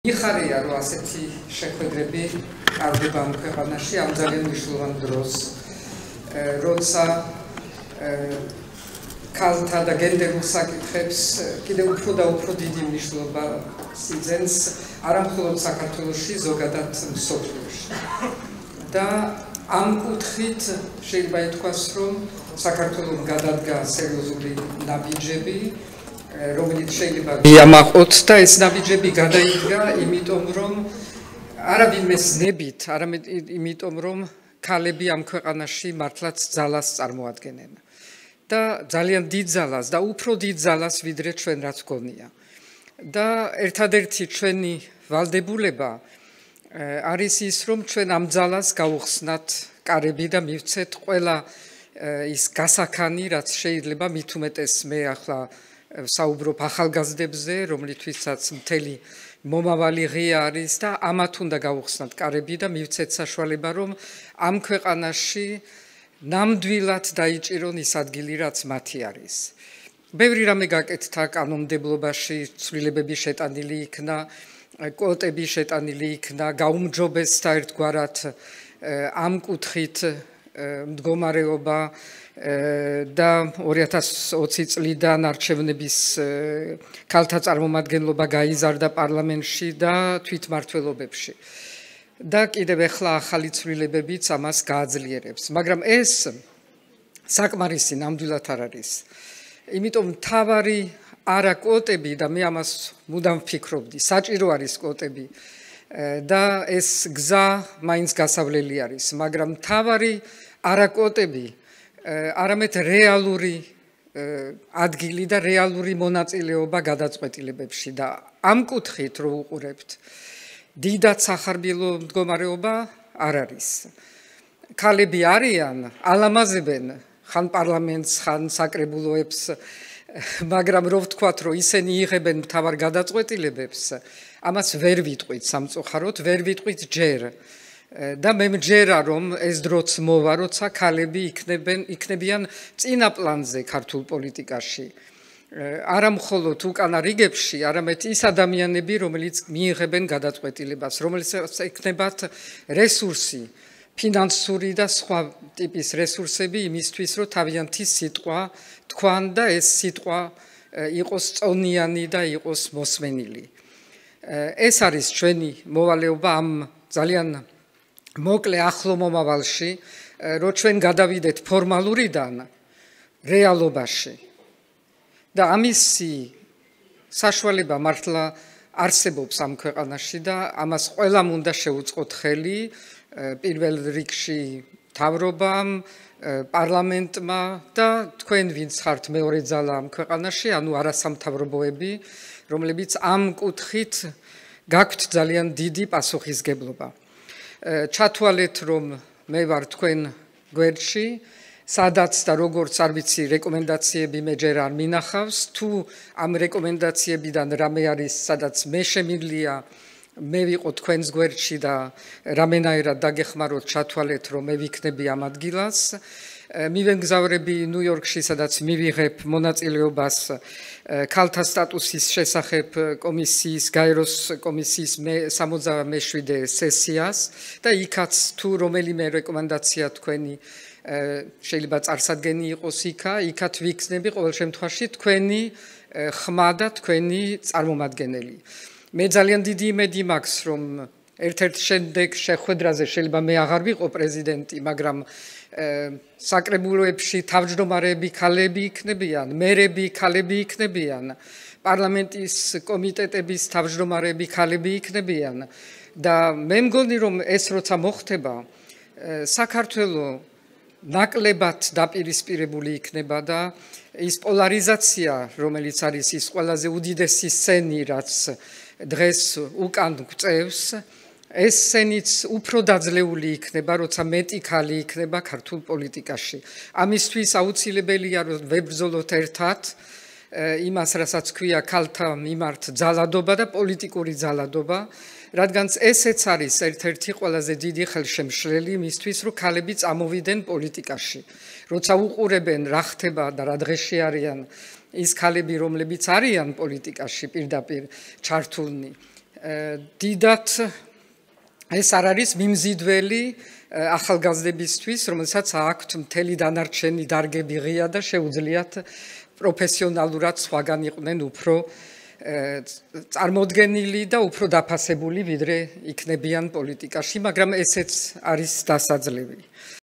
იხარია რომ ასეთი შეხვედრები ტარდება ამ ქვეყანაში ამ ძალიან მნიშვნელოვან დროს, როცა ქალთა და გენდერულ საკითხებს კიდევ უფრო და უფრო დიდი მნიშვნელობა იძენს არა მხოლოდ საქართველოში, ზოგადად მსოფლიოში. და ამ კუთხით შეიძლება ითქვას, რომ საქართველოს გადადგა სერიოზული ნაბიჯები, რომელიც შეიძლება მიამაყოთ და ეს ნაბიჯები გადაიდგა, იმიტომ რომ არავინმეს ნებით, არამედ იმიტომ რომ ქალები ამ ქვეყანაში მართლაც ძალას წარმოადგენენ. და ძალიან დიდ ძალას და უფრო დიდ ძალას ვიდრე ჩვენ რაც გონია. და ერთადერთი ჩვენი ვალდებულება არის ის, რომ ჩვენ ამ ძალას გავუხსნათ კარები და მივცეთ ყველა ის გასაქანი, რაც შეიძლება, მით უმეტეს მე ახლა საუბრობ ახალგაზრდებზე, რომლითვისაც მთელი მომავალი ღია არის და ამათ უნდა გავუხსნათ კარები და მივცეთ საშუალება, რომ ამ ქვეყანაში ნამდვილად დაიჭირონ ის ადგილი, რაც მათი არის. ბევრი რამე გაკეთდა კანონმდებლობაში, ცვლილებები შეტანილი იქნა, კვოტები შეტანილი იქნა, გაუმჯობესდა ერთგვარად ამ კუთხით მდგომარეობა და 2020 წლიდან არჩევნების ქალთა წარმომადგენლობა გაიზარდა პარლამენტში და თვითმმართველობებში. და კიდევ ახლა ახალი ცვლილებებიც ამას გააძლიერებს. მაგრამ ეს საკმარისი ნამდვილად არ არის. იმიტომ მთავარი არა კვოტები და მე ამას მუდამ ვფიქრობდი, საჭირო არის კვოტები და ეს გზა მაინც გასავლელი არის, მაგრამ მთავარი არა კვოტები, არამედ რეალური ადგილი და რეალური მონაწილეობა გადაწყვეტილებებში და ამ კუთხით რო უყურებთ, დიდად სახარბილო მდგომარეობა არ არის. ქალები არიან, ალამაზებენ ხან პარლამენტს, ხან საკრებულოებს, მაგრამ რო ვთქვათ, რომ ისინი იღებენ მთავარ გადაწყვეტილებებს, ამას ვერ ვიტყვით სამწუხაროდ, ვერ ვიტყვით ჯერ. და მე მჯერა, რომ ეს დროც მოვა, როცა ქალები იქნებიან წინა პლანზე ქართულ პოლიტიკაში. არა მხოლოდ უკანა რიგებში, არამედ ის ადამიანები, რომელიც მიიღებენ გადაწყვეტილებას, რომელსაც ექნებათ რესურსი, ფინანსური და სხვა ტიპის რესურსები იმისთვის, რომ თავიანთი სიტყვა თქვან და ეს სიტყვა იყოს წონიანი და იყოს მოსმენილი. ეს არის ჩვენი მოვალეობა ამ ძალიან მოკლე ახლო მომავალში, რომ ჩვენ გადავიდეთ ფორმალურიდან რეალობაში. და ამისი საშუალება მართლა არსებობს ამ ქვეყანაში და ამას ყველამ უნდა შეუწყოთ ხელი, პირველ რიგში მთავრობამ, პარლამენტმა და თქვენ ვინც ხართ მეორე ძალა ამ ქვეყანაში, ანუ არასამთავრობოები, რომლებიც ამ კუთხით გაქვთ ძალიან დიდი პასუხისგებლობა. ჩათვალეთ, რომ მე ვარ თქვენ გვერდში, სადაც და როგორც არ ვიცი, რეკომენდაციები მე ჯერ არ მინახავს, თუ ამ რეკომენდაციებიდან რამე არის, სადაც მე შემიძლია მე ვიყო თქვენს გვერდში და რამენაირად დაგეხმაროთ ჩათვალეთ, რომ მე ვიქნები ამ ადგილას. მივემგზავრები ნიუ-იორკში, სადაც მივიღებ მონაწილეობას ქალთა სტატუსის შესახებ კომისიის, გაეროს კომისიის 67 სესიას და იქაც თუ რომელიმე რეკომენდაცია თქვენი შეიძლება წარსადგენი იყოს იქაც ვიქნები ყოველ შემთხვევაში თქვენი ხმა და თქვენი წარმომადგენელი. მე ძალიან დიდი იმედი მაქვს, რომ ერთ-ერთ შემდეგ შეხვედრაზე შეიძლება მე აღარ ვიყო პრეზიდენტი, მაგრამ საკრებულოებში თავმჯდომარეები ქალები იქნებიან, მერები ქალები იქნებიან, პარლამენტის კომიტეტების თავმჯდომარეები ქალები იქნებიან და მე მგონი, რომ ეს როცა მოხდება, საქართველოს ნაკლებად დაპირისპირებული იქნება და ის პოლარიზაცია, რომელიც არის ის ყველაზე უდიდესი სცენი, რაც დღეს უკან გვწევს, ეს სცენიც უფრო დაძლეული იქნება, როცა მეტი ქალი იქნება ქართულ პოლიტიკაში. ამისთვის აუცილებელია, რომ ვებრძოლოთ ერთად იმას, რასაც ქვია ქალთა მიმართ ძალადობა და პოლიტიკური ძალადობა, რადგანაც ესეც არის ერთ-ერთი ყველაზე დიდი ხელშემშლელი იმისთვის, რომ ქალები წამოვიდნენ პოლიტიკაში. როცა უყურებენ რა ხდება და რა დღეში არიან ის ქალები, რომლებიც არიან პოლიტიკაში პირდაპირ ჩართულნი, დიდად ეს არ არის მიმზიდველი ახალგაზრდებისთვის, რომელსაც აქვთ მთელი დანარჩენი დარგები ღია და შეუძლიათ პროფესიონალურად სხვაგან იყვნენ უფრო წარმოდგენილი და უფრო დაფასებული, ვიდრე იქნებიან პოლიტიკაში, მაგრამ ესეც არის დასაძლევი.